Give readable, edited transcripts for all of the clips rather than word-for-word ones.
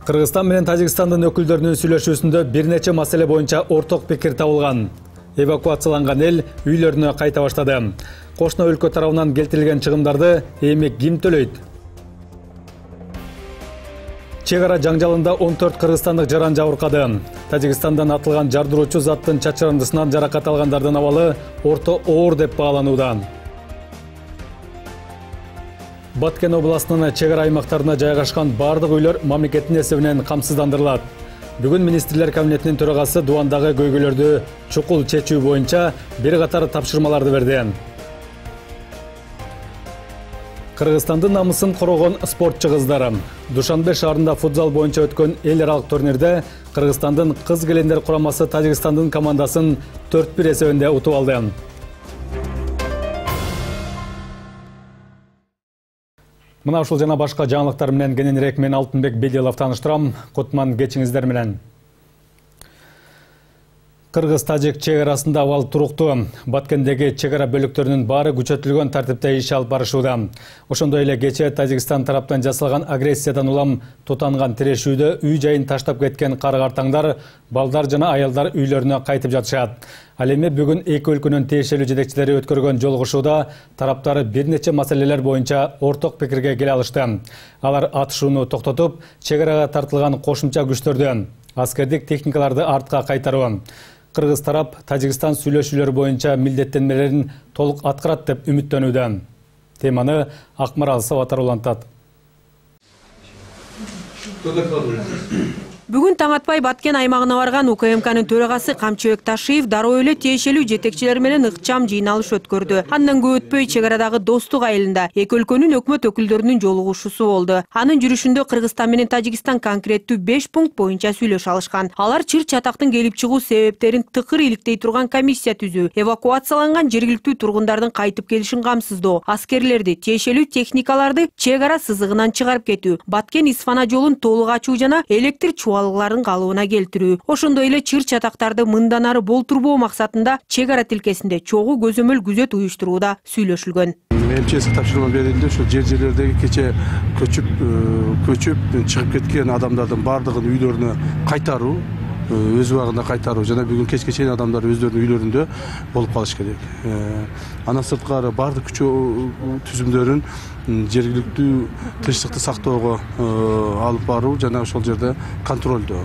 Кыргызстан менен Тажикстандын өкүлдөрүнүн сүйлөшүүсүндө бир нече маселе боюнча орток пикир табылган. Эвакуацияланган эл үйлөрүнө кайта баштады. Кошуна өлкө тарабынан келтирилген чыгымдарды эми ким төлөйт? Чек ара жаңжалында 14 кыргызстандык жаран жабыркады. Тажикстандан атылган жардыруучу заттын чачырандысынан жаракат алгандардын абалы орто оор деп бааланууда. Баткен областынын чек ара аймактарына жайгашкан бардык үйлөр мамлекеттин эсебинен камсыздандырылат. Бүгүн министрлер кабинетинин төрагасы Дубандагы көйгөйлөрдү чукул чечүү боюнча бир катар тапшырмаларды берди. Кыргызстандын намысын коргон спортчу кыздар. Душанбе шаарында футзал боюнча өткөн эл аралык турнирде Кыргызстандын кыз келендер курамасы Тажикстандын командасын 4-1 эсебинде утуп алды. Мына ушул жана башка жаңылыктар менен кененирээк мен Алтынбек Бедилов тааныштырам. Кутман кечиңиздер менен. Кыргыз-тажик чек арасында абал туруктуу. Баткендеги чек ара бөлүктөрүнүн баары күчөтүлгөн тартипте иш алып барышууда. Ошондой эле кечээ Тажикстан тараптан жасалган агрессиядан улам тутанган тирешүүдө үй жайын таштап кеткен кара-картаңдар, балдар жана аялдар үйлөрүнө кайтып жатышат. Ал эми бүгүн эки өлкөнүн тиешелүү жетекчилери өткөргөн жолугушууда тараптары бир нече маселелер боюнча орток пикирге келе алышты. Алар атышууну токтотуп, чек арага тартылган кошумча күчтөрдү, аскердик техникаларды артка кайтаруу. Кыргыз тарап Тажикстан сүйлөшүүлөр боюнча милдеттенмелерин толук аткарат деп үмүттөнүүдө. Теманы Акмарал Сабатар улантат. Бүгүн таң атпай Баткен аймагына барган УКМКнын төрагасы Камчыбек Ташиев дароо эле тиешелүү жетекчилер менен ыкчам жыйналыш өткөрдү. Андан көп өтпөй чек арадагы достук айылында эки өлкөнүн өкмөт өкүлдөрүнүн жолугушуусу болду. Анын жүрүшүндө Кыргызстан менен Тажикстан конкреттүү 5 пункт боюнча сүйлөшө алышкан. Алар чыр-чатактын келип чыгуу себептерин тыкыр иликтей турган комиссия түзүү, эвакуацияланган жергиликтүү тургундардын кайтып келишин камсыздоо, аскерлерди, тиешелүү техникаларды чек ара сызыгынан чыгарып кетүү, Баткен-Исфана жолун толук ачуу жана электр чубалыкларын калыбына келтирүү. Ошондой эле чыр-чатактарды мындан ары болтурбоо максатында чек ара тилкесинде чогуу көзөмөл күзөт уюштурууда сүйлөшүлгөн. МЧС тапшырма берилди, ошо жерлердеги кече көчүп чыгып кеткен адамдардын бардыгын үйлөрүнө кайтаруу, өз убагында кайтаруу жана бүгүн кечке чейин адамдар өздөрүнүн үйлөрүндө болуп калыш керек. Андан сырткары бардык күчөө түзүмдөрүн жергиликтүү тынчтыкты сактоого алып баруу жана ошол жерде контролдоо.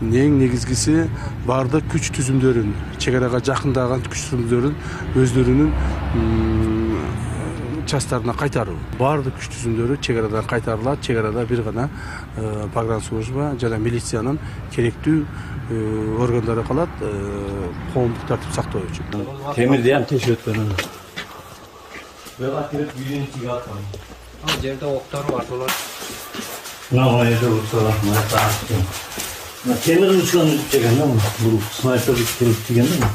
Эң негизгиси бардык күч түзүмдөрүн, чек арага жакындаган күч түзүмдөрүн өздөрүнүн частарына кайтаруу. Бардык күч түзүмдөрү чек арадан кайтарылат. Чек арада бир гана погранслужба жана милициянын керектүү органдары калат, коомдук тартип сактоо үчүн. Темирди ham тешип өткөн. Бага кирип үйүнүн тиги аткан. Ал жерде октор бар болот. Мына жерде октор бар. Темир учкан деген да, бул снайпер келип тиген да.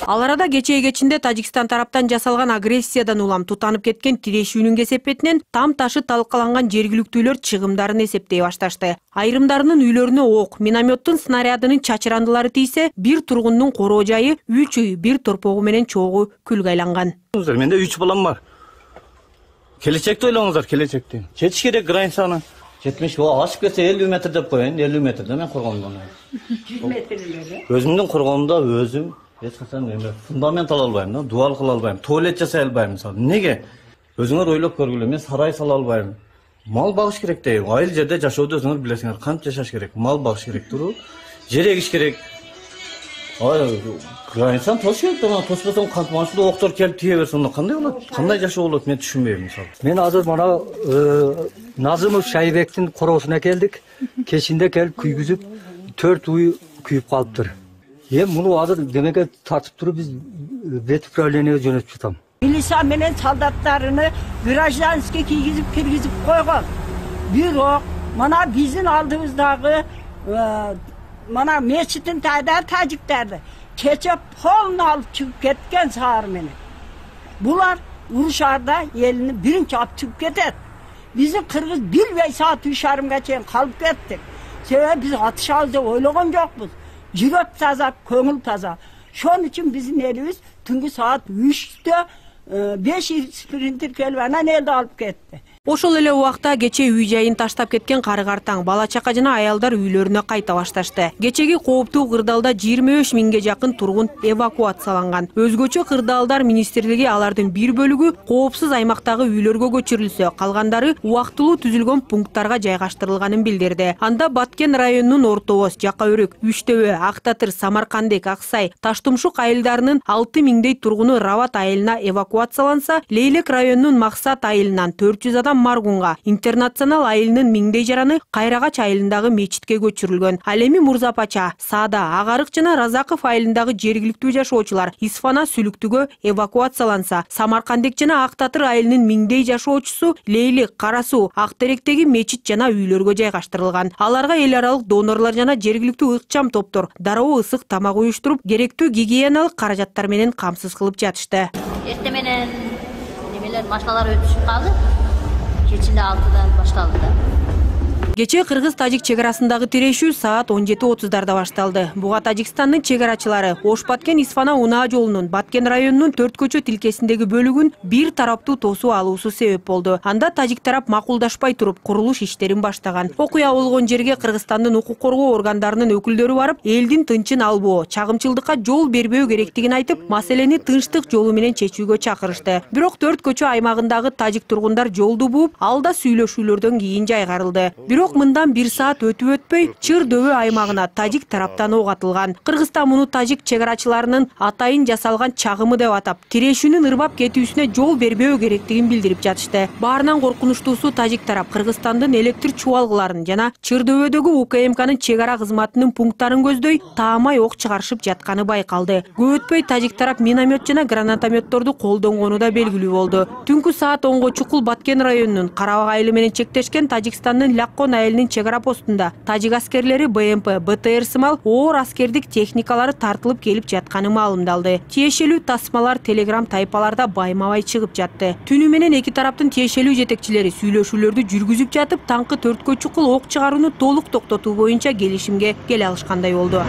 Ал арада кечээ кечинде Тажикстан тараптан жасалган агрессиядан улам тутанып кеткен тирешүүнүн кесепетинен там ташы талкаланган жергиликтүүлөр чыгымдарын эсептей башташты. Айрымдарынын үйлөрүнө ок, минометтун снарядынын чачырандылары тийсе, бир тургундун короо жайы 3 үй, бир торпогу менен чогуу күлгө айланган. Менде 3 балам бар. Келечекти ойлоңуздар, келечекти. Жетиш керек границаны. Жетмеш, ашып кетсе 50 метр деп коеюн, 50 метрде мен коргондон. 100 метр эле. Өзүмдүн коргоомдо өзүм фундамент ала албайм да, дуал кыла албайм, туалет жасай албайм мисалы. Неге? Өзүңөр ойлоп көргүлө, мен сарай сала албайм. Мал багыш керек дейм. Айыл жерде жашоодо өзүңөр билесиңер, канча жашаш керек, мал багыш керек туру, жер эгиш керек. Границаны тош керек да, тоспосоң кантип машина октор келип тие берсе, онда кандай болот? Кандай жашоо болот, мен түшүнбөйм мисалы. Мен азыр мына Назымов Шайбектин короосуна келдик. Кечинде келип күйгүзүп 4 уй күйүп калыптыр. Муну азыр демеке тартып туруп биз бет управлениеге жөнөтүп жатам. Милиция менен солдаттарыны гражданский киргизип койгон. Бирок мына биздин алдыбыздагы мына мечиттин тайда тажиктерди кече полну алып чыгып кеткен саар менен. Булар урушарда элини биринчи алып чыгып кетет. Биздин кыргыз билбей саат 3:30га чейин калып кеттик. Себеби биз атышабыз деп ойлогон жокпуз. Жүрөк таза, көңүл таза. Шон үчүн биздин элибиз түнгү саат 3'te 5 спринтер келип анан элди алып кетти. Ошол эле убакта кече үй жайын таштап кеткен кары-картаң, бала-чака жана аялдар үйлөрүнө кайта башташты. Кечеги кооптуу кырдаалда 25 миңге жакын тургун эвакуацияланган. Өзгөчө кырдаалдар министрлиги алардын бир бөлүгү коопсуз аймактагы үйлөргө көчүрүлсө, калгандары убактылуу түзүлгөн пункттарга жайгаштырылганын билдирди. Анда Баткен районунун Орто Оз, Жака Өрүк, Үчтөбө, Актатыр, Самаркандек, Аксай, Таштумшук айылдарынын 6 миңдей тургуну Рават айылына эвакуацияланса, Лейлек районунун Максат айылынан 400 адам Маргунга, Интернационал айылынын миңдей жараны Кайрагач айылындагы мечитке көчүрүлгөн. Ал эми Мурзапача, Саада, Агарык жана Разаков айылындагы жергиликтүү жашоочулар Исфана, Сүлүктүгө эвакуацияланса, Самаркандек жана Актатыр айылынын миңдей жашоочусу Лейлек, Карасуу, Актеректеги мечит жана үйлөргө жайгаштырылган. Аларга эл аралык донорлор жана жергиликтүү ыкчам топтор дароо ысык тамак уюштуруп, керектүү гигиеналык каражаттар менен камсыз кылып жатышты. Эртең менен немелер машиналар өтүшүп калды. Кечинде 6-дан башталды да. Кече Кыргыз-Тажик чегарасындагы тирешүү саат 17:30 башталды. Буга Тажикстандын чегарачылары Ош-Баткен-Исфана унаа жолунун Баткен районунун 4 көчө тилкесиндеги бөлүгүн бир тараптуу тосуу алуусу себеп болду. Анда Тажик тарап макулдашпай туруп курулуш иштерин баштаган. Окуя болгон жерге Кыргызстандын укук коргоо органдарынын өкүлдөрү барып, элдин тынчын албоо, чагымчылдыкка жол бербөө керектигин айтып, маселени тынчтык жолу менен чечүүгө чакырышты. Бирок 4 көчө аймагындагы тажик тургундар жолду бууп, алда сүйлөшүүлөрдөн кийин жайгарылды. Бирок мындан 1 саат өтүп-өтпөй Чыр-Дөбө аймагына тажик тараптан ок атылган. Кыргызстан муну тажик чегарачыларынын атайын жасалган чагымы деп атап, тирешүүнүн ырбап кетүүсүнө жол бербөө керектигин билдирип жатышты. Баарынан коркунучтуусу тажик тарап Кыргызстандын электр чубалгыларын жана Чыр-Дөбөдөгү УКМКнын чегара кызматынын пункттарын көздөй таамай ок чыгарышып жатканы байкалды. Көп өтпөй тажик тарап миномет жана гранатометторду колдонгону да белгилүү болду. Түнкү саат 10го чукул Баткен районунун Карабак айылы менен чектешкен Тажикстандын Ляккон айылынын чегара постунда тажик аскерлери БМП, БТР сымал оор аскердик техникалары тартылып келип жатканы маалымдалды. Тиешелүү тасмалар Telegram тайпаларда байма-бай чыгып жатты. Түнү менен эки тараптын тиешелүү жетекчилери сүйлөшүүлөрдү жүргүзүп жатып, таңкы 4кө чукул ок чыгарууну толук токтотуу боюнча келишимге келе алышкандай болду.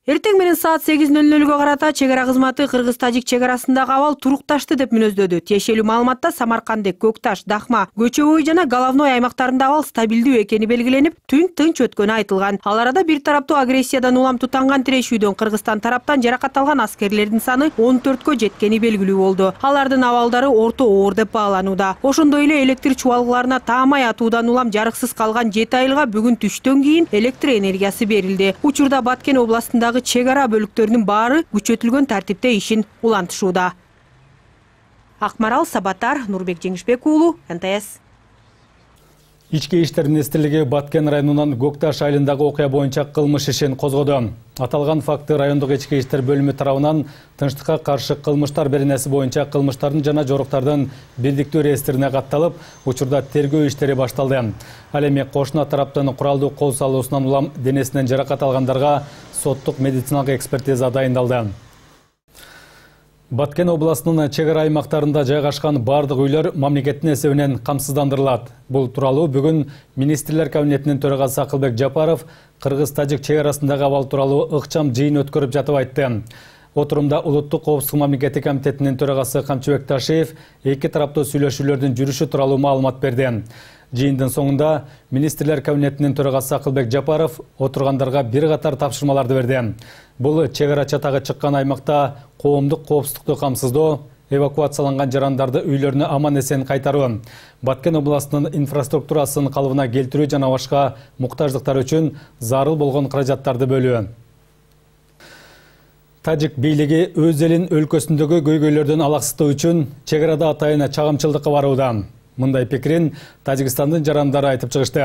Эртең менен саат 8:00-га карата чегара кызматы Кыргыз-Тажик чегарасындагы абал турукташты деп мүнөздөдү. Тиешелүү маалыматта Самаркандек, Көкташ, Дахма, Көчөбөй жана Головной аймактарында абал стабилдүү экени белгиленип, түн тынч өткөнү айтылган. Ал арада бир тараптуу агрессиядан улам тутанган тирешүүдөн Кыргызстан тараптан жаракат алган аскерлердин саны 14кө жеткени белгилүү болду. Алардын абалдары орто оор деп бааланууда. Ошондой эле электр чубалгыларына таамай атуудан улам жарыксыз калган 7 айылга бүгүн түштөн кийин электр энергиясы берилди. Учурда Баткен областындагы чегара бөлүктөрүнүн баары күчөтүлгөн тартипте ишин улантышууда. Акмарал Сабатар, Нурбек Жеңишбек уулу, НТС. Ички иштер министрлиги Баткен районунан Көкташ айылындагы окуя боюнча кылмыш ишин козгоду. Аталган факты райондук ички иштер бөлүмү тарабынан тынчтыкка каршы кылмыштар беренеси боюнча кылмыштардын жана жоруктардын бирдиктүү реестрине катталып, учурда тергөө иштери башталды. Ал эми кошуна тараптын куралдуу кол салуусунан улам денесинен жаракат алгандарга соттук медициналык экспертиза дайындалды. Баткен областынын чегара аймактарында жайгашкан бардык үйлөр мамлекеттин эсебинен камсыздандырылат. Бул тууралуу бүгүн Министрлер кабинетинин төрагасы Акылбек Жапаров Кыргыз-Тажик чегарасындагы абал тууралуу ыкчам жыйын өткөрүп жатып айтты. Отурумда Улуттук коопсуздук мамлекеттик комитетинин төрагасы Камчыбек Ташиев эки тараптуу сүйлөшүүлөрдүн жүрүшү тууралуу маалымат берди. Жыйындын соңунда Министрлер кабинетинин төрагасы Акылбек Жапаров отургандарга бир катар тапшырмаларды берди. Бул чегара чатагы чыккан аймакта коомдук коопсуздукту камсыздоо, эвакуацияланган жарандарды үйлөрүнө аман-эсен кайтаруу, Баткен областынын инфраструктурасын калыбына келтирүү жана башка муктаждыктар үчүн зарыл болгон каражаттарды бөлүү. Тажик бийлиги өз элин өлкөсүндөгү көйгөйлөрдөн алаксытуу үчүн чегарада атайын чагымчылдыкка барууда. Мындай пикирин Тажикстандын жарандары айтып чыгышты.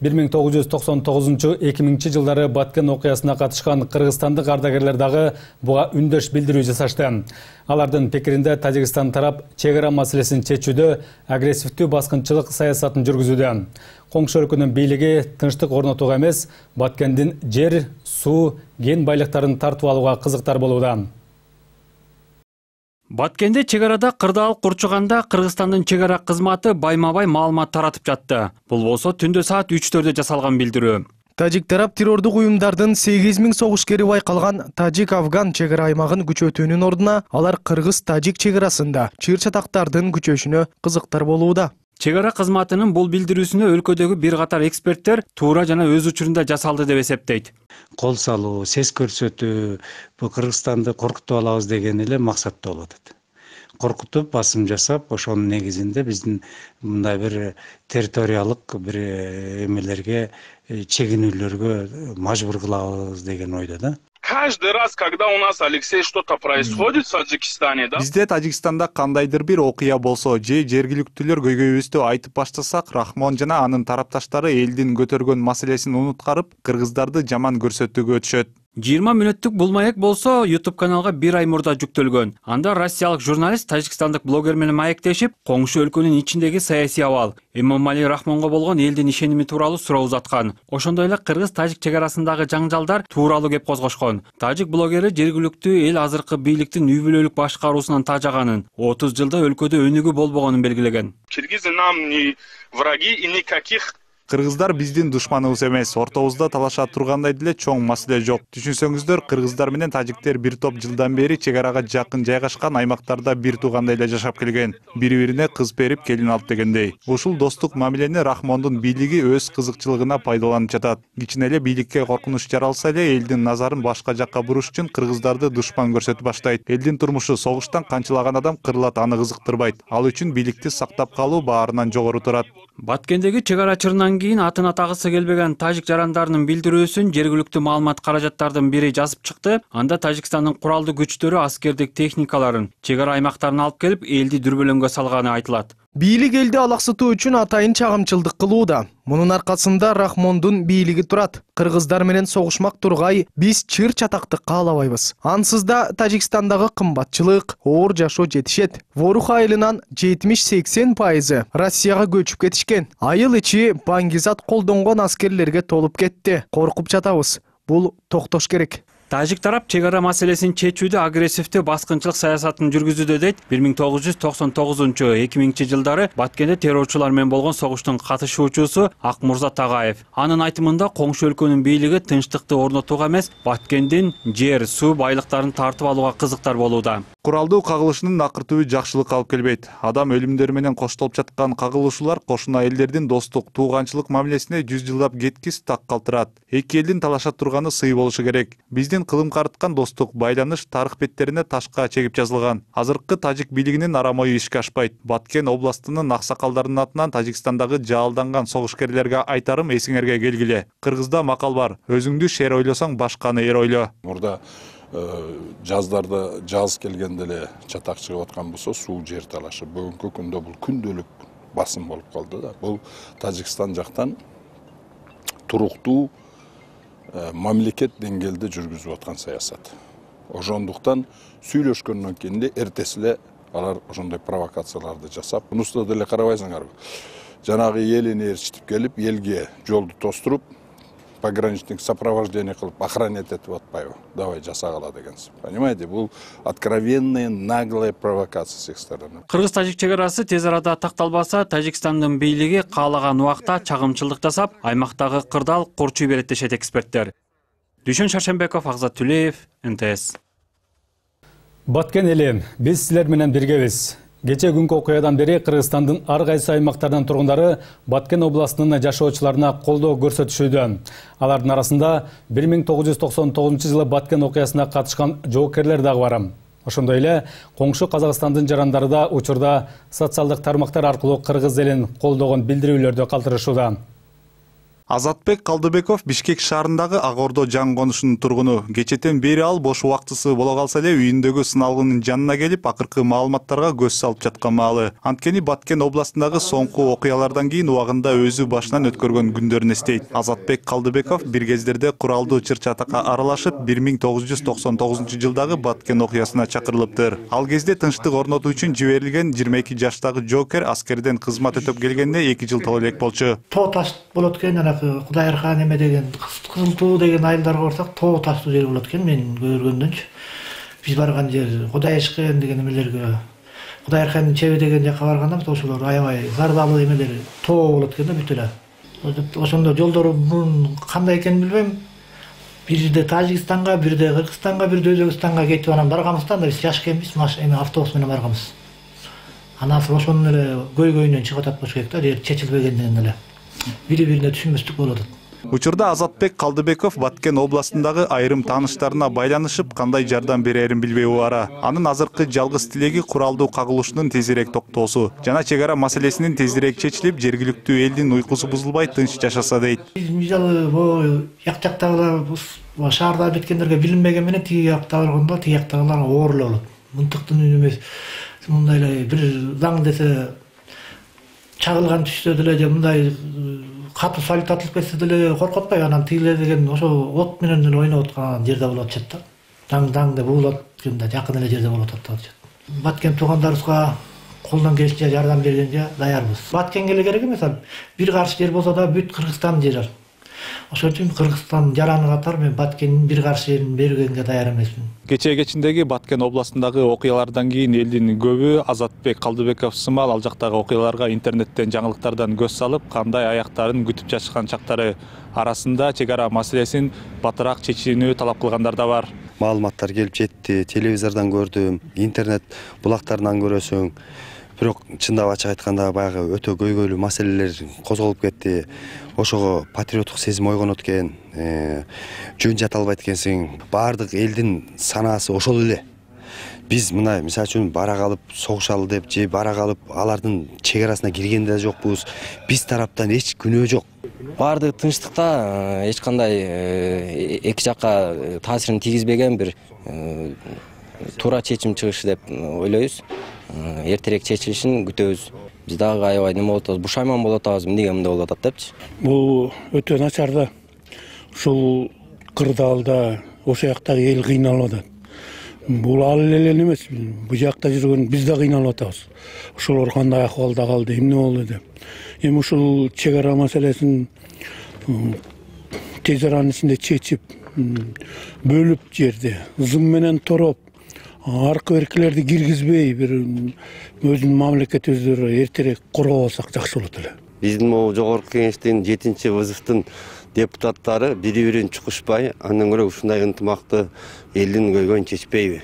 1999-2000 жылдары Баткен окуясына катышкан кыргызстандык ардагерлер дагы буга үндөш билдирүү жасашты. Алардын пикиринде Тажикстан тарап чегара маселесин чечүүдө агрессивдүү баскынчылык саясатын жүргүзүүдө. Коңшу өлкөнүн бийлиги тынчтык орнотууга эмес, Баткендин жер, суу, кен байлыктарын тартып алууга кызыктар болууда. Баткенде чегарада кырдаал курчуганда Кыргызстандын чегара кызматы байма-бай маалымат таратып жатты. Бул болсо түндө саат 3-4 жасалган билдирүү. Тажик тарап террордук уюмдардын 8000 согушкери байкалган Тажик-Афган чегара аймагын күчөтүүнүн ордуна алар Кыргыз-Тажик чегарасында чыр-чатактардын күчөшүнө кызыктар болууда. Чегара кызматынын бул билдирүүсүнө өлкөдөгү бир катар эксперттер туура жана өз учурунда жасалды деп эсептейт. Кол салуу, сес көрсөтүү, бул Кыргызстанды коркутуп алабыз деген эле максатта болот. Коркутуп, басым жасап, ошонун негизинде биздин мындай бир территориялык бир эмелерге, чегинүүлөргө мажбур кылабыз деген ойдо да. Каждый раз, когда у нас, Алексей, что-то происходит в Таджикистане, да? Бизде Тажикстанда кандайдыр бир окуя болсо, же жергиликтүүлөр көйгөйүбүздү айтып баштасак, Рахмон жана анын тарапташтары элдин көтөргөн маселесин унуткарып, кыргыздарды жаман көрсөтүүгө өтүшөт. 20 мүнөттүк бул маек болсо YouTube каналга бир ай мурда жүктөлгөн. Анда россиялык журналист тажикстандык блогер менен маектешип, коңшу өлкөнүн ичиндеги саясий абал, Эмомали Рахмонго болгон элдин ишеними тууралуу суроо узаткан. Ошондой эле Кыргыз-Тажик чегарасындагы жаңжалдар тууралуу кеп козгошкон. Тажик блогери жергиликтүү эл азыркы бийликтин үй бүлөлүк башкаруусунан тажаганын, 30 жылда өлкөдө өнүгүү болбогонун белгилеген. Киргизы нам не враги и никаких. Кыргыздар биздин душманыбыз эмес, ортобузда талаша тургандай деле чоң маселе жок. Түшүнсөңүздөр, кыргыздар менен тажиктер бир топ жылдан бери чегарага жакын жайгашкан аймактарда бир туугандай эле жашап келген. Бири-бирине кыз берип, келин алып дегендей. Ушул достук мамилени Рахмондун бийлиги өз кызыкчылыгына пайдаланып жатат. Кичине эле бийликке коркунуч жаралса эле, элдин назарын башка жакка буруш үчүн кыргыздарды душман көрсөтүп баштайт. Элдин турмушу согуштан канчылаган адам кырылат, аны кызыктырбайт. Ал үчүн бийликти сактап калуу баарынан жогору турат. Баткендеги чегара чырынан кийин атын атагысы келбеген тажик жарандарынын билдирүүсүн жергиликтүү маалымат каражаттардын бири жазып чыкты. Анда Тажикстандын куралдуу күчтөрү аскердик техникаларын чегара аймактарына алып келип, элди дүрбөлөңгө салганы айтылат. Бийлик элди алаксытуу үчүн атайын чагымчылдык кылууда. Мунун аркасында Рахмондун бийлиги турат. Кыргыздар менен согушмак тургай, биз чыр-чатакты каалабайбыз. Ансыз да Тажикстандагы кымбатчылык, оор жашоо жетишет. Ворух айылынан 70-80% Россияга көчүп кетишкен. Айыл ичи баңгизат колдонгон аскерлерге толуп кетти. Коркуп жатабыз. Бул токтош керек. Тажик тарап чегара маселесин чечүүдө агрессивдүү баскынчылык саясатын жүргүзүүдө дейт. 1999-2000 жылдары Баткенде террорчулар менен болгон согуштун катышуучусу Акмурза Тагаев. Анын айтымында коңшу өлкөнүн бийлиги тынчтыкты орнотууга эмес, Баткендин жер, суу байлыктарын тартып алууга кызыктар болууда. Куралдуу кагылышынын акыртуу жакшылык алып келбейт. Адам өлүмдөр менен коштолуп жаткан кагылышуулар кошуна элдердин достук, тууганчылык мамилесине 100 жылдап кеткис так калтырат. Эки элдин талаша турганы сый болушу керек. Биздин кылым карыткан достук, байланыш тарых беттерине ташка чегип жазылган. Азыркы тажик бийлигинин арамою ишке ашпайт. Баткен областынын аксакалдарынын атынан Тажикстандагы жаалданган согушкерлерге айтарым эсиңерге келгиле. Кыргызда макал бар: өзүңдү шер ойлосоң, башканы эр ойло. Мурда жаздарда жаз келгенде эле чатак чыгып аткан болсо, суу жер талашы. Бүгүнкү күндө бул күндөлүк басым болуп калды да. Бул Тажикстан жактан туруктуу мамлекет деңгээлде жүргүзүп аткан саясат. Ошондуктан сүйлөшкөндөн кийин эртеси эле алар ошондой провокацияларды жасап, мунусуда деле карабайсыңарбы. Жанагы элин ээрчитип келип, элге жолду тостуруп, пограничник сопровождение кылып, охранять этип атпайбы? Давай жасагыла дегенсиз. Понимаете, бул откровенная, наглая провокация с их стороны. Кыргыз-Тажик чегарасы тез арада такталбаса, Тажикстандын бийлиги каалаган убакта чагымчылдык жасап, аймактагы кырдаал курчуй берет дешет эксперттер. Дүйшөн Шаршенбеков, Агзат Түлеев, НТС. Баткен эли, биз силер менен биргебиз. Кече күнкү окуядан бери Кыргызстандын ар кайсы аймактарынан тургундары Баткен областынын жашоочуларына колдоо көрсөтүшүүдө. Алардын арасында 1999 жылы Баткен окуясына катышкан жоокерлер дагы бар. Ошондой эле коңшу Казакстандын жарандары да учурда социалдык тармактар аркылуу кыргыз элин колдогон билдирүүлөрдү калтырышууда. Азатбек Калдыбеков Бишкек шаарындагы Ак Ордо жаң конушунун тургуну. Кечетен бери ал бош убактысы боло калса эле үйүндөгү сыналгынын жанына келип, акыркы маалыматтарга көз салып жаткан маалы. Анткени Баткен областындагы соңку окуялардан кийин убагында өзү башынан өткөргөн күндөрүн эстейт. Азатбек Калдыбеков бир кездерде куралдуу чыр-чатакка аралашып, 1999 жылдагы Баткен окуясына чакырылыптыр. Ал кезде тынчтык орнотуу үчүн жиберилген 22 жаштагы жоокер аскерден кызмат өтөп келгенде 2 жыл толо элек болчу. Тоо таш болот экен, Кудайырхан эме деген, Кызылтуу деген айылдарга барсак, тоо таштуу жер болот экен, мен көргөндөнчү. Биз барган жер Кудайышкен деген эмелерге, Кудайырхандын чеби деген жакка барганда ошолор аябай зардалуу эмелер тоо болот экен да бүт эле. Ошондо жолдордун кандай экенин билбейм. Бирде Тажикстанга, бирде Кыргызстанга, бирде Өзбекстанга кетип анан барганбыз да, биз жаш экенбиз, эми автобус менен барганбыз. Анан ошонун эле көйгөйүнөн чыгып атат болуш керек да, жер чечилбегенден эле. Бири-бирине түшүнбөстүк болуп атат. Учурда Азатбек Калдыбеков Баткен областындагы айрым тааныштарына байланышып, кандай жардам берерин билбей убара. Анын азыркы жалгыз тилеги куралдуу кагылышунун тезирээк токтоосу жана чек ара маселесинин тезирээк чечилип, жергиликтүү элдин уйкусу бузулбай тынч жашаса дейт. Мисалы, бу жактагылар шаарда биткендерге билинбеген менен тиги жакта барганда, тиги жактагылар оор эле болот. Мынтыктын үнү эмес. Мындай эле бир заң десе чагылган түштө деле же мындай катуу салют атылып кетсе деле коркотпой, анан тигилер деген ошо от менен эле ойноп аткан жерде болуп атышат да. Заң деп угулат генде жакын эле жерде болуп атат. Баткен туугандарыбызга колдон келишинче жардам бергенге даярбыз. Баткенге эле керек эмес, бир каршы жер болсо да бүт Кыргызстан жери бар. Ошон үчүн Кыргызстан жараны катар мен Баткендин бир каршы жерин бергенге даяр эмесмин. Кечээкечиндеги Баткен областындагы окуялардан кийин элдин көбү Азатбек Калдыбеков сымал ал жактагы окуяларга интернеттен, жаңылыктардан көз салып, кандай аяктарын күтүп жатышкан чактары арасында чек ара маселесин батыраак чечүүнү талап кылгандар да бар. Маалыматтар келип жетти, телевизордон көрдүм, интернет булактарынан көрөсүң. Бирок чындап ачык айтканда баягы өтө көйгөйлүү маселелер козголуп кетти. Ошого патриоттук сезим ойгонот экен, жөн жата албайт экенсиң. Баардык элдин санаасы ошол эле. Биз мына мисалы үчүн бара калып согушалы деп же бара калып алардын чек арасына кирген да жокпуз. Биз тараптан эч күнөө жок. Баардык тынчтыкта эч кандай эки жакка таасирин тийгизбеген бир туура чечим чыгышы деп ойлойбуз. Эртерээк чечилишин күтөбүз. Биз дагы аябай неме болуп атабыз, бушайман болуп атабыз, эмнеге мындай болуп атат депчи. Бул өтө начар да. Ушул кырдаалда ошол жактагы эл кыйналып атат. Бул ал эле эмес, бул жакта жүргөн биз да кыйналып атабыз. Ошолор кандай акыбалда калды, эмне болду деп. Эми ушул чек ара маселесин тез аранын ичинде чечип, бөлүп жерди, зым менен тороп, аркы беркилерди киргизбей, бир өзүнүн мамлекетибизди эртерээк коргоп алсак жакшы болот эле. Биздин могу жогорку кеңештин 7-вызыфтын депутаттары бири-бирин чукушпай, андан көрө ушундай ынтымакты элдин көйгөйүн чечпейби?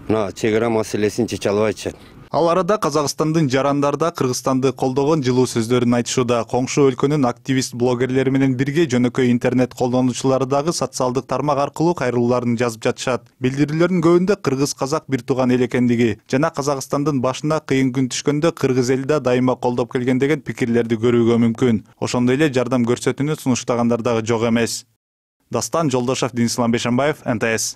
Мына чек ара маселесин чече албайчы. Ал арада Казакстандын жарандарда Кыргызстанды колдогон жылуу сөздөрүн айтышууда. Коңшу өлкөнүн активист блогерлери менен бирге жөнөкөй интернет колдонуучулары дагы социалдык тармак аркылуу кайрылууларын жазып жатышат. Билдирүүлөрдүн көбүндө кыргыз-казак бир тууган эл экендиги жана Казакстандын башына кыйын күн түшкөндө кыргыз эли да дайыма колдоп келген деген пикирлерди көрүүгө мүмкүн. Ошондой эле жардам көрсөтүүнү сунуштагандар дагы жок эмес. Дастан Жолдошев, Денислам Бешенбаев, НТС.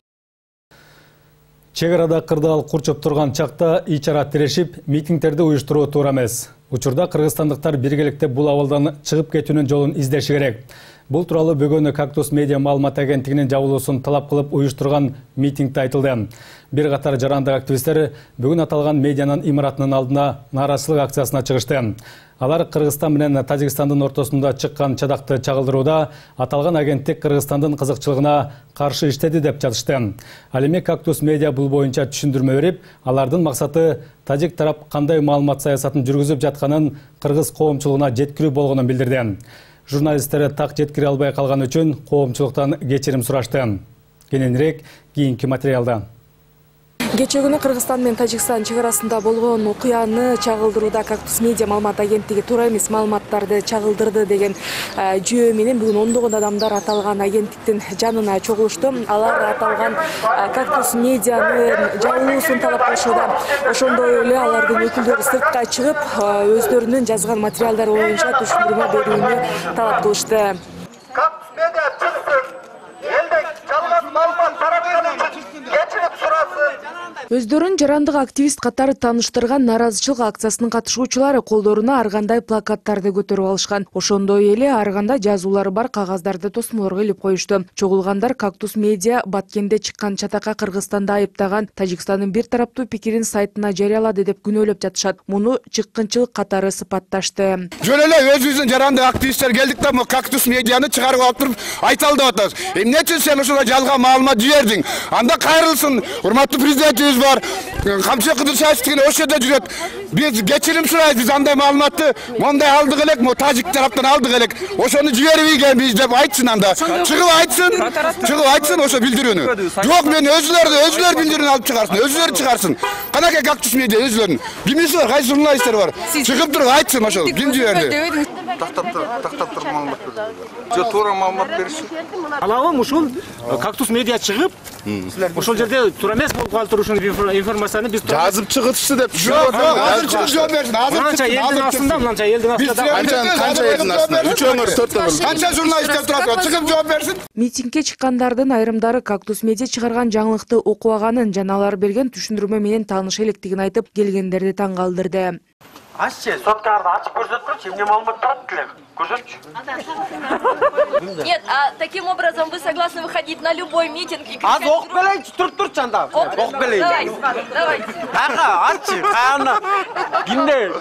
Чек арада кырдаал курчуп турган чакта ичара тирешип, митингдерди уюштуруу туура эмес. Учурда кыргызстандыктар биргеликте бул абалдан чыгып кетүүнүн жолун издеши керек. Бул тууралуу бүгүн Кактус медиа маалымат агенттигинин жабылуусун талап кылып уюштурган митингде айтылды. Бир катар жарандык активисттер бүгүн аталган медианын имаратынын алдына нааразычылык акциясына чыгышты. Алар Кыргызстан менен Тажикстандын ортосунда чыккан чадакты чагылдырууда аталган агенттик Кыргызстандын кызыкчылыгына каршы иштеди деп жатышты. Ал эми Кактус медиа бул боюнча түшүндүрмө берип, алардын максаты тажик тарап кандай маалымат саясатын жүргүзүп жатканын кыргыз коомчулугуна жеткирүү болгонун билдирди. Журналисттер так жеткире албай калган үчүн коомчулуктан кечирим сурашты. Кененирээк кийинки материалда. Кечээ күнү Кыргызстан менен Тажикстан чек арасында болгон окуяны чагылдырууда Кактус медиа маалымат агенттиги туура эмес маалыматтарды чагылдырды деген жөө менен бүгүн ондогон адамдар аталган агенттиктин жанына чогулушту. Алар аталган Кактус медианын жабылуусун талап кылышууда. Ошондой эле алардын өкүлдөрү сыртка чыгып, өздөрүнүн жазган материалдары боюнча түшүндүрмө берүүнү талап кылышты. Кактус медиа чыксын, элден жалган маалымат таратканы үчүн кечирим сурасын. Өздөрүн жарандык активист катары тааныштырган нааразычылык акциясынын катышуучулары колдоруна ар кандай плакаттарды көтөрүп алышкан. Ошондой эле ар кандай жазуулары бар кагаздарды тосмолорго илип коюшту. Чогулгандар Кактус медиа Баткенде чыккан чатакка Кыргызстанды айыптаган Тажикстандын бир тараптуу пикирин сайтына жарыялады деп күнөөлөп жатышат. Муну чыккынчылык катары сыпатташты. Жөн эле өзүбүздүн жарандык активисттер келдик да, Кактус медианы чыгарып алып туруп айталды атабыз. Эмне үчүн сен ушуга жалган маалымат жибердиң? Анда кайрылсын, урматтуу президентибиз бар. Камчы Кыдыршаев деген ошол жерде жүрөт. Биз кечирим сурайбыз, биз андай маалыматты мондай алдык элек, тажик тараптан алдык элек. Ошону жибербейбиз деп айтсын анда. Чыгып айтсын ошо билдирүүнү. Жок, мен өзүлөр билдирүүнү алып чыгарсын, өзүлөр чыгарсын. Канакай Кактус Медиа өзүлөрүн. Кимиси бар, кайсы журналисттер бар. Чыгып туруп айтсын ошо, ким жиберди. Тактап туруп маалымат берди. Туура маалымат бериши. Алабым ушул Кактус Медиа чыгып, ошол жерде туура эмес болуп калып турушун информацияны биз жазып чыгытсы деп. Жок, азыр чыгып жооп берсин. Мынанча элдин астында, мынанча элдин астында. Канча элдин астында? 3 өңүр, 4 өңүр. Канча журналисттер турат, чыгып жооп берсин. Митингге чыккандардын айрымдары Кактус Медиа чыгарган жаңылыкты окубаганын жана алар берген түшүндүрмө менен тааныша электигин айтып, келгендерди таң калтырды. Аччы, соткарды ачып көрсөткүлчү, эмне маалымат турат эле? Көрсөтчү. Нет, а таким образом вы согласны выходить на любой митинг и кричать? Ок белейчи, турчу анда. Ок белейчи. Давайте. Аччы, каяна. Кимде?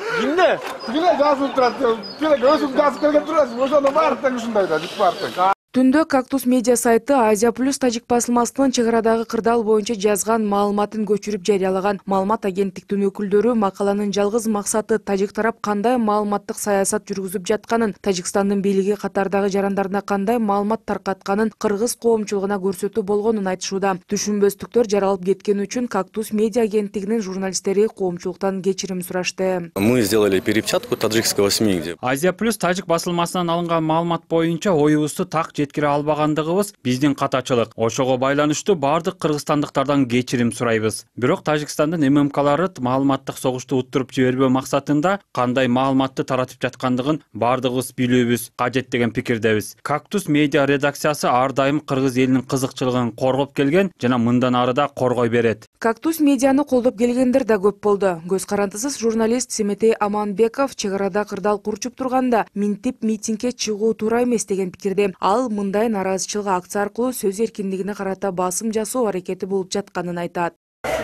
Биле жазып турат. Биле өзүм жазып келген турасың. Ошондо баардык ушундай да, бүт баардык. Түндө Кактус Медиа сайты Азия Плюс тажик басылмасынын чек арадагы кырдаал боюнча жазган маалыматын көчүрүп жарыялаган. Маалымат агенттиктин өкүлдөрү макаланын жалгыз максаты тажик тарап кандай маалыматтык саясат жүргүзүп жатканын, Тажикстандын бийлиги катардагы жарандарына кандай маалымат таркатканын кыргыз коомчулугуна көрсөтүү болгонун айтышууда. Түшүнбөстүктөр жаралып кеткени үчүн Кактус Медиа агенттигинин журналисттери коомчулуктан кечирим сурашты. Мы сделали перепечатку таджикского СМИ, где Азия Плюс тажик басылмасынан алынган маалымат боюнча оюбузду так жеткире албагандыгыбыз биздин катачылык. Ошого байланыштуу бардык кыргызстандыктардан кечирим сурайбыз. Бирок Тажикстандын ММКлары маалыматтык согушту уттуруп жибербөө максатында кандай маалыматты таратып жаткандыгын бардыгыбыз билүүбүз кажет деген пикирдебиз. Кактус Медиа редакциясы ар дайым кыргыз элинин кызыкчылыгын коргоп келген жана мындан ары да коргой берет. Кактус Медианы колдоп келгендер да көп болду. Көз карандысыз журналист Семетей Аманбеков чек арада кырдаал курчуп турганда минтип митингге чыгуу туура эмес деген пикирде. Ал мындай наразычылык акция аркылуу сөз эркиндигине карата басым жасоо аракети болуп жатканын айтат.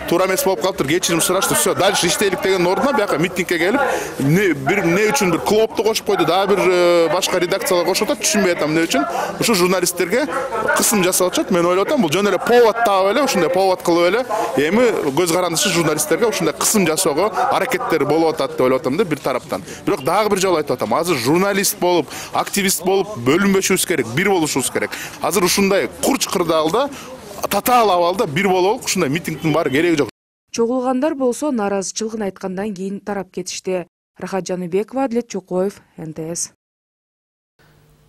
Туура эмес болуп калыптыр, кечирим сурашты, все, дальше иштейлик деген ордуна бияка митингге келип, эмне үчүн бир клубду кошуп койду, дагы бир башка редакциялар кошуп атат, түшүнбөй атам эмне үчүн. Ушу журналисттерге кысым жасап атышат. Мен ойлоп атам, бул жөн эле повод таап эле, ушундай повод кылып эле, эми көз карандысыз журналисттерге ушундай кысым жасоого аракеттер болуп атат деп ойлоп атам да бир тараптан. Бирок дагы бир жолу айтып атам, азыр журналист болуп, активист болуп бөлүнбөшүбүз керек, бир болушубуз керек. Азыр ушундай курч кырдаалда татаал абалда бир бололук, ушундай митингдин баары кереги жок. Чогулгандар болсо наразычылыгын айткандан кийин тарап кетишти. Рахат Жаныбекова, Адлет Чокоев, НТС.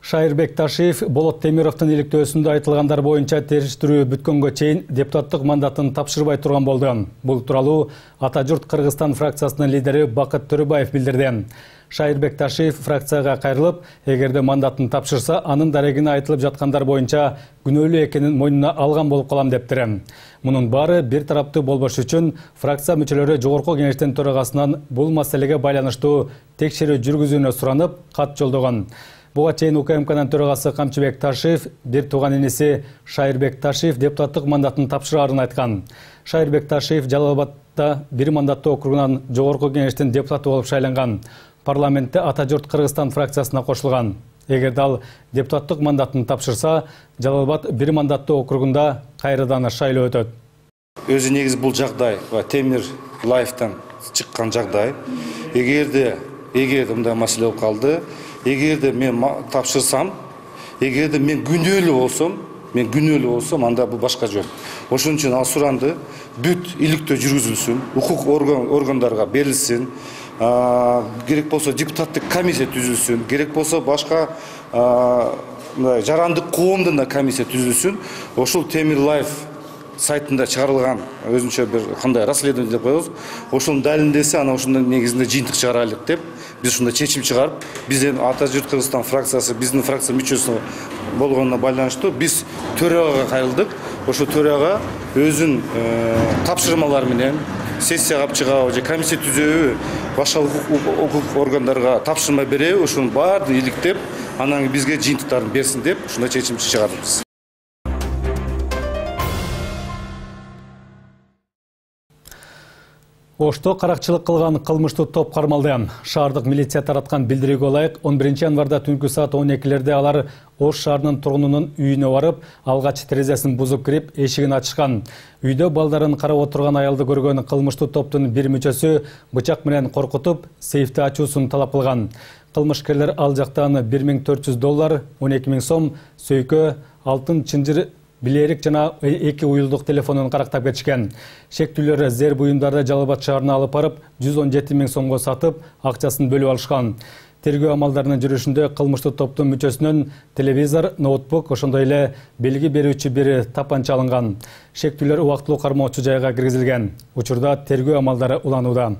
Шайырбек Ташиев Болот Темировдун иликтөөсүндө айтылгандар боюнча териштирүү бүткөнгө чейин депутаттык мандатын тапшырбай турган болду. Бул тууралуу Ата журт Кыргызстан фракциясынын лидери Бакыт Төрөбаев билдирди. Шайырбек Ташиев фракцияга кайрылып, эгерде мандатын тапшырса, анын дарегине айтылып жаткандар боюнча күнөөлүү экенин мойнуна алган болуп калам дептир. Мунун баары бир тараптуу болбош үчүн фракция мүчөлөрү жогорку кеңештин төрагасынан бул маселеге байланыштуу текшерүү жүргүзүүнү суранып, кат жолдогон. Буга чейин УКМКнын төрагасы Камчыбек Ташиев бир тууган иниси Шайырбек Ташиев депутаттык мандатын тапшырарын айткан. Шайырбек Ташиев Жалал-Абадда бир мандаттуу округунан жогорку кеңештин депутаты болуп шайланган. Парламентте Ата журт Кыргызстан фракциясына кошулган. Эгерде ал депутаттык мандатын тапшырса, Жалал-Абад бир мандаттуу округунда кайрадан шайлоо өтөт. Өзү негизи бул жагдай Темир Лайфтан чыккан жагдай. Эгерде мындай маселе болуп калды, эгерде мен тапшырсам, эгерде мен күнөөлүү болсом, анда бул башка жөн. Ошон үчүн ал суранды, бүт иликтөө жүргүзүлсүн, укук органдарга берилсин, керек болсо депутаттык комиссия түзүлсүн, керек болсо башка жарандык коомдун да комиссия түзүлсүн. Ошол Темир Лайф сайтында чыгарылган өзүнчө бир кандай расследование деп коебуз. Ошонун далилдесе, ана ошондун негизинде жыйынтык чыгарайлык деп биз ушундай чечим чыгарып, биздин Ата журт Кыргызстан фракциясы биздин фракция мүчөсү болгонуна байланыштуу биз төрагага кайрылдык. Ошо төрага өзүнүн тапшырмалары менен сессияга чыгабы же комиссия түзөбү, башка укук органдарга тапшырма береби, ошонун баарын иликтеп, анан бизге жыйынтыктарын берсин деп ушундай чечим чыгардык. Ошто каракчылык кылган кылмыштуу топ кармалды. Шаардык милиция тараткан билдирүүгө ылайык 11 январда түнкү саат 12-лерде алар Ош шаарынын тургунунун үйүнө барып, алгач терезесин бузуп кирип, эшигин ачышкан. Үйдө балдарын карап отурган аялды көргөн кылмыштуу топтун бир мүчөсү бычак менен коркутуп, сейфти ачуусун талап кылган. Кылмышкерлер ал жактан $1400, 12 000 сом, сөйкө, алтын чынжыр, билерик жана 2 уюлдук телефонун карактап кетишкен. Шектүүлөр зер буюмдарды Жалал Абад шаарына алып барып, 117 000 сомго сатып, акчасын бөлүп алышкан. Тергөө амалдарынын жүрүшүндө кылмыштуу топтун мүчөсүнөн телевизор, ноутбук, ошондой эле белги берүүчү бир тапанча алынган. Шектүүлөр убактылуу кармоочу жайга киргизилген. Учурда тергөө амалдары уланууда.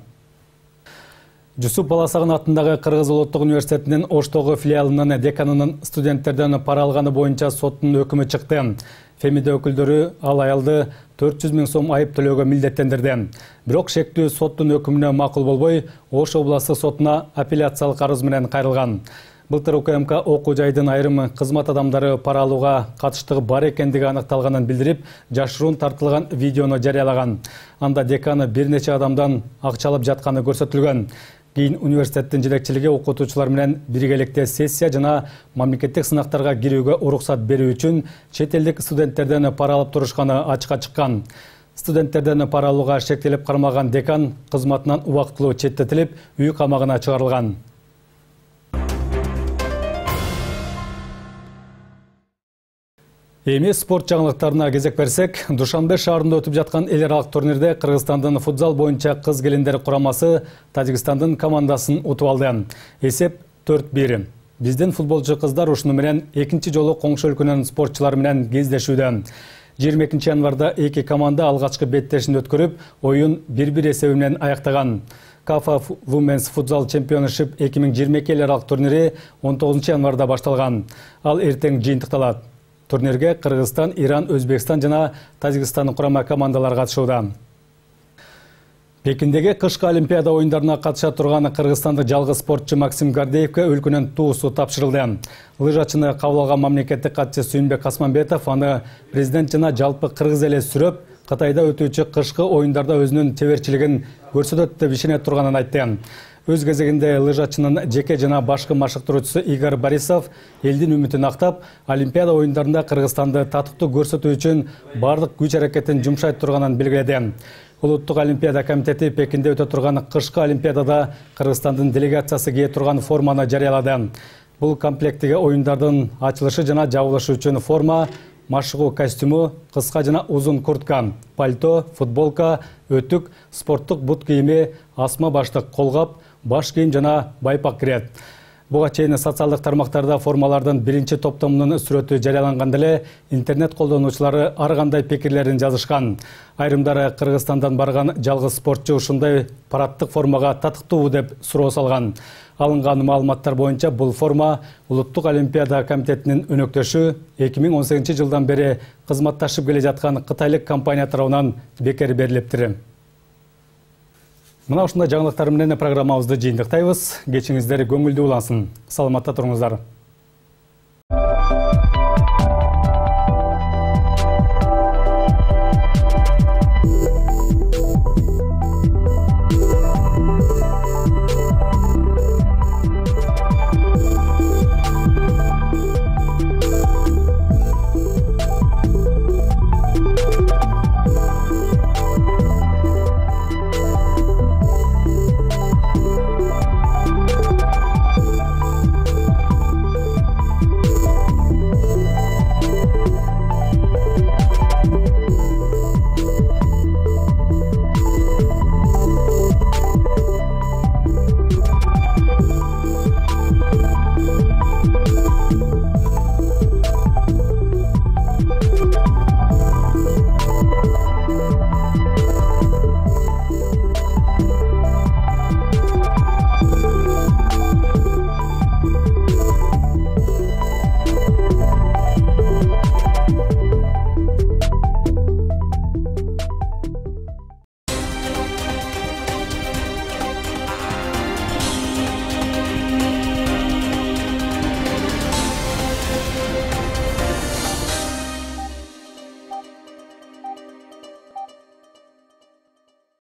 Жусуп Баласагын атындагы Кыргыз Улуттук университетинин Оштогу филиалынын деканынын студенттерден пара алганы боюнча соттун өкүмү чыкты. Фемиде өкүлдөрү ал аялды 400 000 сом айып төлөөгө милдеттендирди. Бирок шектүү соттун өкүмүнө макул болбой, Ош областык сотуна апелляциялык арыз менен кайрылган. Былтыр УКМК окуу жайдын айрым кызмат адамдары пара алууга катыштыгы бар экендиги аныкталганын билдирип, жашыруун тартылган видеону жарыялаган. Анда деканы бир нече адамдан акча алып жатканы көрсөтүлгөн. Кийин университеттин жетекчилиги окутуучулар менен биргеликте сессия жана мамлекеттик сынактарга кирүүгө уруксат берүү үчүн чет элдик студенттерден пара алып турушканы ачыкка чыккан. Студенттерден пара алууга шектелип кармалган декан кызматынан убактылуу четтетилип, үй камагына чыгарылган. Эми спорт жаңылыктарына кезек берсек, Душанбе шаарында өтүп жаткан эл аралык турнирде Кыргызстандын футзал боюнча кыз келиндер курамасы Тажикстандын командасын утуп алды. Эсеп 4-1. Биздин футболчу кыздар ушуну менен экинчи жолу коңшу өлкөнүн спортчулары менен кездешүүдө. 22 январда эки команда алгачкы беттешин өткөрүп, оюн 1-1 эсеби менен аяктаган. Кафа Women's Futsal Championship 2022 эл аралык турнири 19 январда башталган. Ал эртең жыйынтыкталат. Турнирге Кыргызстан, Иран, Өзбекстан жана Тажикстан курама командалары катышууда. Пекиндеги кышкы Олимпиада оюндарына катыша турган кыргызстандык жалгыз спортчу Максим Гордеевке өлкөнүн туусу тапшырылды. Лыжачыны кабыл алган мамлекеттик катчы Сүйүнбек Асманбетов аны президент жана жалпы кыргыз эли сүрөп, Кытайда өтүүчү кышкы оюндарда өзүнүн чеберчилигин көрсөтөт деп ишене турганын айтты. Өз кезегинде лыжачынын жеке жана башкы машыктыруучусу Игорь Борисов элдин үмүтүн актап, Олимпиада оюндарында Кыргызстанды татыктуу көрсөтүү үчүн бардык күч аракетин жумшайт турганын белгиледи. Улуттук Олимпиада комитети Пекинде өтө турган кышкы Олимпиадада Кыргызстандын делегациясы кие турган форманы жарыялады. Бул комплектиге оюндардын ачылышы жана жабылышы үчүн форма, машыгуу костюму, кыска жана узун куртка, пальто, футболка, өтүк, спорттук бут кийими, асма баштык колгап, баш кийим жана байпак кирет. Буга чейин социалдык тармактарда формалардын биринчи топтомунун сүрөтү жарыяланганда эле интернет колдонуучулары ар кандай пикирлерин жазышкан. Айрымдары Кыргызстандан барган жалгыз спортчу ушундай парадтык формага татыктуубу деп суроо салган. Алынган маалыматтар боюнча бул форма Улуттук Олимпиада комитетинин өнөктөшү 2018 жылдан бери кызматташып келе жаткан кытайлык компания тарабынан бекер берилиптир. Мына ушундай жаңылыктар менен программабызды жыйынтыктайбыз. Кечиңиздер көңүлдүү улансын. Саламатта туруңуздар.